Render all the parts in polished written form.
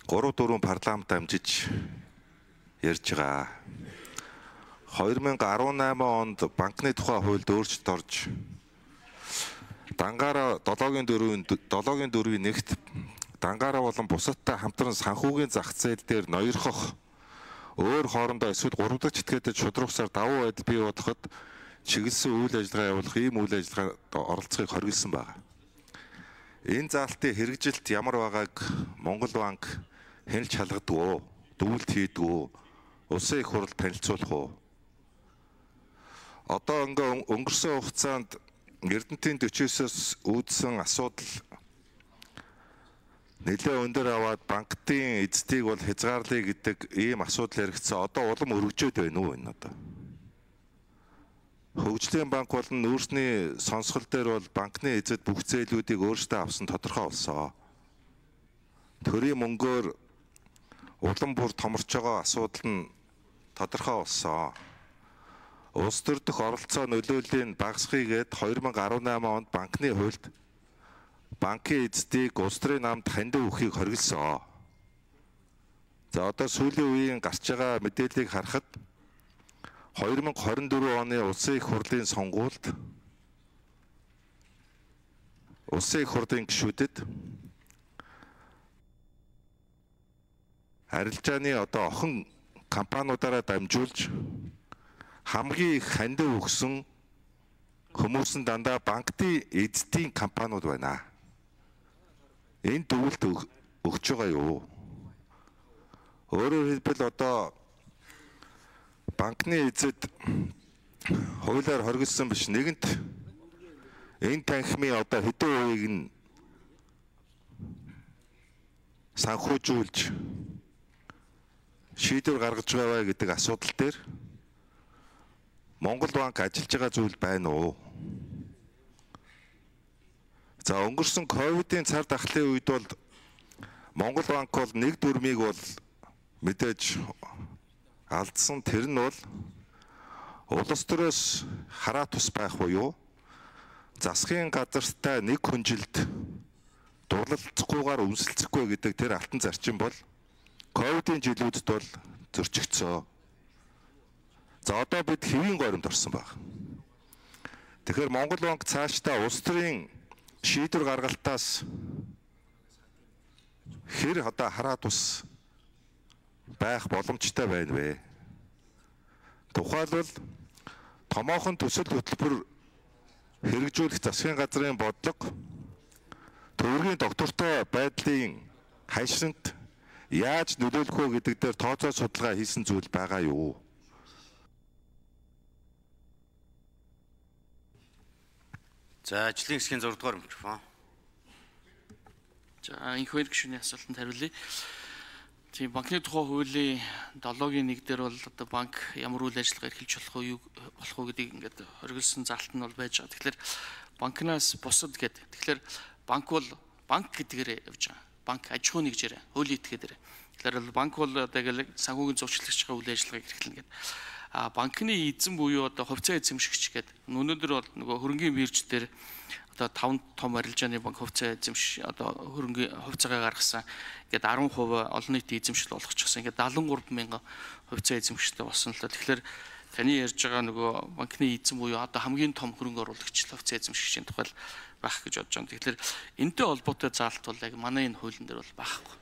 3-4 парламент амжиж ярьж байгаа. 2018 онд банкны тухай хуульд өөрчлөлт орж дангаараа 7-4-ийн нэгт дангаараа болон бусадтай хамтран санхүүгийн зах зээл дээр ноёрхох өөр хоорондоо эсвэл 3 дахь этгээдэд шудраг усаар давуу байдал бий болгоход чиглэсэн үйл ажиллагаа явуулах ийм үйл ажиллагаанд оролцохыг хориглосон байна. Энэ заалтын хэрэгжилт ямар байгааг Монгол банк хянилж халгадаг уу, дүгнэлт хийдэг үү, улсын их хурл танилцуулах уу? Одоо өнгөрсөн хугацаанд Эрдэнэтийн 49-оос үүдсэн асуудал нэлээд өндөр аваад банкны эзэдийг бол хязгаарлая гэдэг ийм асуудал яригдсан. Одоо улам өргөжөөд байна уу энэ одоо? Хөгжлийн банк болон нүүрсний сонсгол дээр бол банкны эзэд бүх зээлүүдийг өөрсдөө авсан тодорхой болсон. Төрийн мөнгөөр улам бүр томорч байгаа асуудал нь тодорхой болсон. Улс төр дэх оролцоо нөлөөллийн багасхийгээд 2018 онд банкны хуульд банкын эзэдийг улс төрийн намд хандив өгөхийг хориглосон. За одоо сүүлийн үеийн гарч байгаа мэдээллийг харахад 2024 оны улсын их хурлын сонгуульд улсын их хурлын гишүүдэд арилжааны одоо охин компаниудаараа дамжуулж хамгийн их хандив өгсөн хүмүүс нь дандаа банкны эзэдийн компаниуд байна. Энэ дүгнэлт өгч байгаа юу? Өөрөөр хэлбэл одоо банкны эзэд хуулиар хориглосон биш нэгэнт энэ танхимын одоо хэдэн хувийг нь санхүүжүүлж шийдвэр гаргаж байгаа гэдэг асуудал дээр Монгол банк ажиллаж байгаа зүйл байна уу? За өнгөрсөн ковидын цар тахлын үед бол Монгол банк бол нэг дүрмийг бол мэдээж алдсан. Тэр нь бол улс төрөөс хараа тус байх буюу засгийн газартай нэг хүнжилд дурлалцахгүйгээр үнсэлцэхгүй гэдэг тэр алтан зарчим бол ковидын жилүүдэд бол зөрчигдсөн. За одоо бид хэвийн горимд орсон баг. Тэгэхээр Монгол банк цаашдаа улс төрийн шийдвэр гаргалтаас хэр одоо хараа тус байх боломжтой байна вэ? Тухайлбал томоохон төсөл хөтөлбөр хэрэгжүүлэх засгийн газрын бодлого төвөргийн доктортой байдлын хайшинт яаж нөлөөлөх вэ гэдэг дээр тооцоо судалгаа хийсэн зүйл байгаа юу? За ажлын хэсгийн 6 дугаар микрофон. За энх хоёр гишүүний асуултанд хариулъя. Тийм банкны тухай хуулийн 7-гийн 1 дээр бол одоо банк ямар үйл ажиллагаа эрхэлж болох уу гэдгийг ингээд хориглосон заалт нь бол байж байгаа. Тэгэхээр банкнаас бусад гэдэг. Тэгэхээр банк бол банк гэдгээр явж байгаа. Банк аж ахуй нэгжээр хуулийн этгээдээр. Тэгэхээр банк бол одоо яг санхүүгийн зурчлагч үйл ажиллагааг эрхлэнэ гэдэг. А банкны эзэн буюу одоо хувьцаа эзэмшигч гэдэг. Өнөөдөр бол нөгөө хөрөнгийн бирж дээр одоо 5 том арилжааны банк хувьцаа эзэмш одоо хөрөнгийн хувьцаагаа гаргасан. Ингээд 10% олон нийтийн эзэмшил болгочихсон. Ингээд 73 мянган хувьцаа эзэмшигчтэй болсон л да. Тэгэхээр таны ярьж байгаа нөгөө банкны эзэн буюу одоо хамгийн том хөрөнгө оруулагч хувьцаа эзэмшигчийн тухай байх гэж бодож байна. Тэгэхээр энэтэй холбоотой заалт бол яг манай энэ хуулийн дээр бол байхгүй.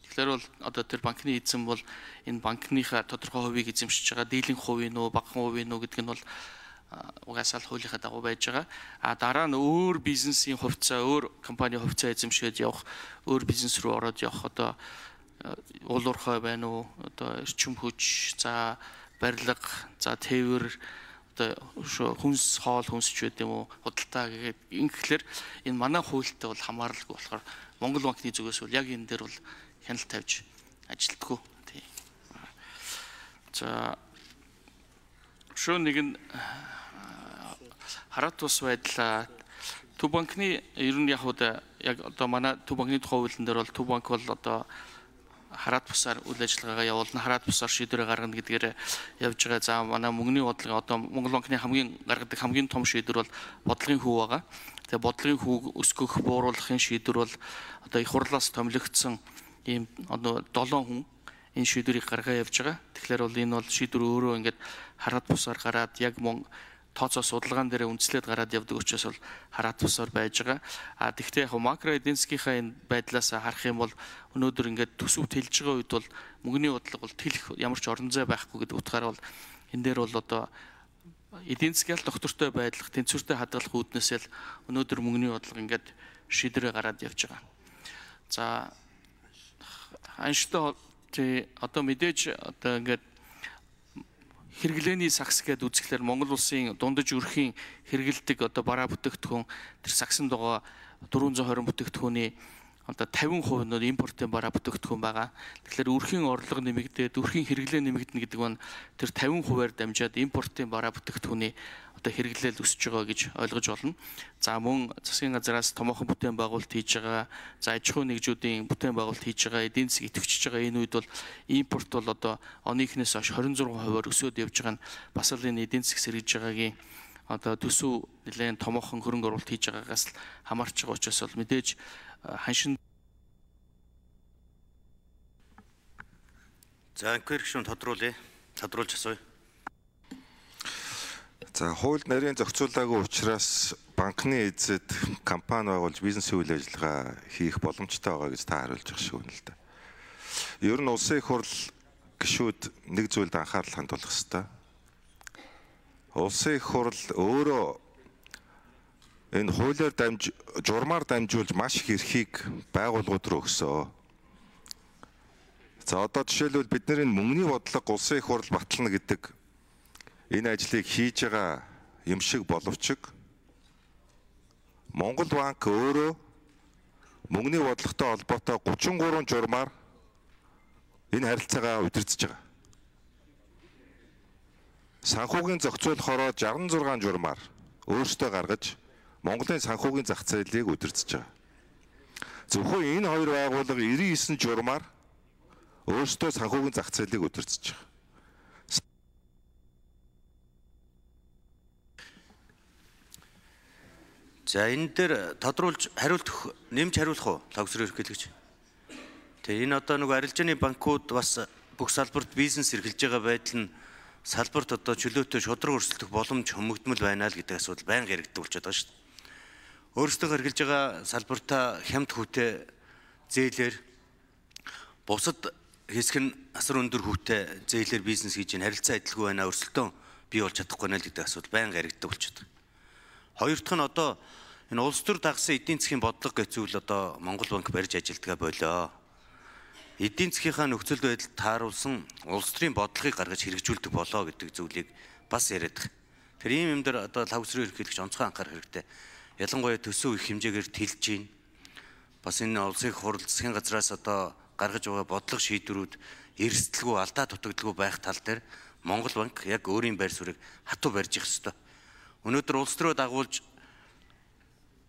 Тэгэхээр бол одоо тэр банкны эзэн бол энэ банкныхаа тодорхой хувийг эзэмшиж байгаа дийлэнх хувийн үү, багахан хувийн үү гэдэг нь бол угаасаа л хуулийнхаа дагуу байж байгаа. А дараа нь өөр бизнесийн хувьцаа, өөр компани хувьцаа эзэмшээд явах, өөр бизнес рүү ороод явах одоо уулуурхай байна уу, одоо эрчим хүч, за барилга, за тээвэр, одоо хүнс хоол хүнсч байд юм уу, худалдаа гэдэг ингэхлээр энэ манай хуультай бол хамааралгүй болохоор Монгол банкны зүгээс бол яг энэ дээр бол хяналт тавьж ажилтгүй. Тийм. За шөө нэг нь хараа тус байдал Төв банкны ер нь яг одоо манай Төв банкны тухай хуулийн дээр бол Төв банк бол одоо хараад бусаар үйл ажиллагаагаа явуулна, хараад бусаар шийдвэр гаргана гэдгээр явж байгаа. За манай мөнгөний бодлого одоо Монгол банкны гаргадаг хамгийн том шийдвэр бол бодлогын хөв байгаа. Тэгээ бодлогын хөв өсгөх, бууруулахын шийдвэр бол одоо их хурлаас томилогдсон ийм одоо 7 хүн энэ шийдвэрийг гаргаа явж байгаа. Тэгэхээр бол энэ бол шийдвэр өөрөө ингээд хараад бусаар гараад яг тооцоо судалгаан дээр үндэслээд гараад явдаг учраас бол хараад бусаар байж байгаа. Тэгвэл яг макро эдийн засгийнхаа энэ байдлаас харах юм бол өнөөдөр ингээд төсөвт хэлж байгаа үед бол мөнгөний бодлого бол тэлэх ямар ч орон зай байхгүй гэдэг утгаараа бол энэ дээр бол одоо эдийн засгийн доктортой байдлах, тэнцвэртэй хадгалах үүднээсээ л өнөөдөр мөнгөний бодлого ингээд шийдвэрээ гараад явж байгаа. За анштай одоо мэдээж одоо ингээд хэрэглээний сакс гэдээ үзэхлээр Монгол улсын дундаж өрхийн хэрэгэлдэг одоо бараа бүтээгдэхүүн тэр саксанд байгаа 420 бүтээгдэхүүний одоо 50% нь импортын бараа бүтээгдэхүүн байгаа. Тэгэхээр өрхийн орлого нэмэгдээд өрхийн хэрэглээ нэмэгдэнэ гэдэг нь тэр 50%-аар дамжаад импортын бараа бүтээгдэхүүний одоо хэрэглээл өсөж байгаа гэж ойлгож болно. За мөн засгийн газраас томоохон бүтээн байгуулалт хийж байгаа, за аж ахуй нэгжүүдийн бүтээн байгуулалт хийж байгаа, эдийн засаг идэвхжиж байгаа энэ үед бол импорт бол одоо оныхнээс хойш 26%-аар өсөд явж байгаа нь бас л энэ эдийн засаг сэргийж байгаагийн одоо төсөв нэлээд томоохон хөрөнгө оруулалт хийж байгаагаас л хамаарч байгаа учраас бол мэдээж ханшин. За анхэр гишүүн тодруулж асууя. За хууль нарийн зохицуулаагүй учраас банкны эзэд компани байгуулж бизнесийн үйл ажиллагаа хийх боломжтой байгаа гэж та хариулж байгаа шиг байна л да. Ер нь улсын их хурл гишүүд нэг зүйлд анхаарал хандуулах хэрэгтэй. Улсын их хурл өөрөө энэ хуулиар журмаар дамжуулж маш их эрхийг байгууллагууд руу өгсөн. За одоо жишээлбэл бидний мөнгөний бодлого улсын их хурл батална гэдэг энэ ажлыг хийж байгаа юм шиг боловч Монгол банк өөрөө мөнгөний бодлоготой холбоотой 33 журмаар энэ харилцаагаа удирдах байгаа. Санхүүгийн зохицуулахороо 66 журмаар өөрсдөө гаргаж Монголын санхүүгийн зах зээлийг удирдах байгаа. Зөвхөн энэ хоёр байгууллага 99 журмаар өөрсдөө санхүүгийн зах зээлийг удирдах байгаа. За энэ дээр тодруулж нэмж хариулах уу лавсрын ерөнхийлөгч? Тэгээ энэ одоо нэг арилжааны банкуд бас бүх салбарт бизнес эрхэлж байгаа байдал нь салбарт одоо чөлөөтэй шудраг өрсөлдөх боломж хөмөгдмөл байна л гэдэг асуудал байнга яригддаг болчиход байгаа шүү дээ. Өөрсдөө эргэлж байгаа салбартаа хямд хүүтэй зээлэр бусад хэсэг нь асар өндөр хүүтэй зээлэр бизнес хийж харилцаа адилгүй байна, өрсөлдөөн бий болж чадахгүй байна л гэдэг асуудал байнга яригддаг болчиход байгаа. Хоёр дахь нь одоо энэ улс төр дагсан эдийн засгийн бодлого гэж зүйл одоо Монгол банк барьж ажилтгаа болоо. Эдийн засгийнхаа нөхцөл байдалд тааруулсан улс төрийн бодлогыг гаргаж хэрэгжүүлдэг болоо гэдэг зүйлийг бас яриад байгаа. Тэр ийм юм дээр одоо лавсрын ерөнхийлөгч онцгой анхаарах хэрэгтэй. Ялангуяа төсөв их хэмжээгээр тэлж гин. Бас энэ улсын их хурл засгийн газраас одоо гаргаж байгаа бодлого шийдвэрүүд эрсдэлгүй алдаа дутагдaltaгүй байх тал дээр Монгол банк яг өөрийн байр суурийг хатуу барьж их ёстой. Өнөөдөр улс төрөө дагуулж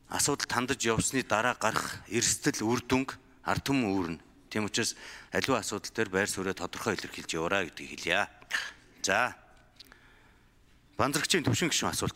асуудал тандаж явсны дараа гарах эрсдэл үр дүнг ард түмэн үүрнэ. Тийм учраас аливаа асуудал дээр байр суурийг тодорхой илэрхийлж яваарай гэдгийг хэлье. За. Банзрагчийн төвшин гишүүн асуулт.